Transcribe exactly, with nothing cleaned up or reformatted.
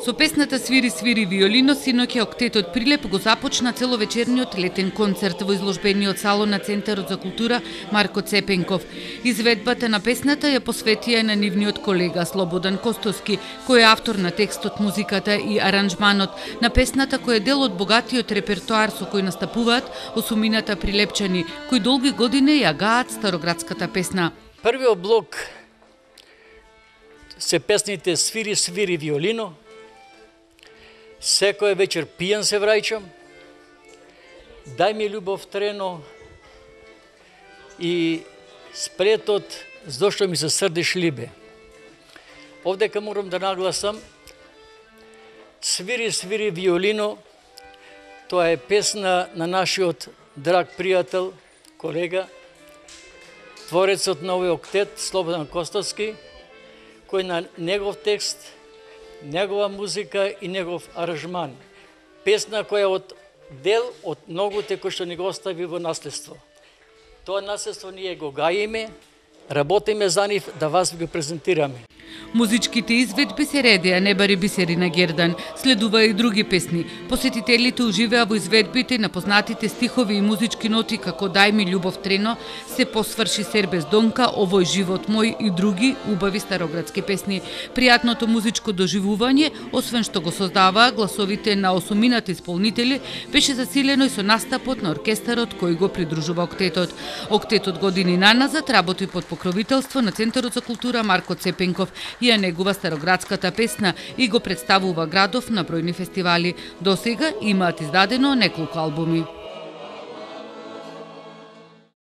Со песната Свири, свири виолино, синоќа октетот Прилеп го започна целовечерниот летен концерт во изложбениот салон на Центарот за култура Марко Цепенков. Изведбата на песната ја посветија на нивниот колега Слободан Костоски, кој е автор на текстот, музиката и аранжманот на песната, кој е дел од богатиот репертоар со кој настапуваат осумината прилепчани, кои долги години ја гаат староградската песна. Првиот блок се песните Свири, свири виолино, Секоја вечер пијан се враќам, Дај ми љубов трено и Спретот зошто ми се срдиш либе. Овдека морам да нагласам, Свири, свири виолино, тоа е песна на нашиот драг пријател, колега, творецот на овој октет Слободан Костоски, кој на негов текст, негова музика и негов аранжман. Песна која е од дел од многуте кои што ни го остави во наследство. Тоа наследство ние го гаиме, работиме за нив да вас ви го презентираме. Музичките изведби се редеа Небари бисери на Гердан, следува и други песни. Посетителите уживеа во изведбите на познатите стихови и музички ноти како Дај ми љубов трено, Се посврши Сербез Донка, Овој живот мој и други убави староградски песни. Пријатното музичко доживување, освен што го создаваа гласовите на осумината исполнители, беше засилено и со настапот на оркестарот кој го придружува октетот. Октетот години наназад работи под покровителство на Центарот за култура Марко Цепенков и ја негува староградската песна и го представува градов на бројни фестивали. До сега имаат издадено неколку албуми.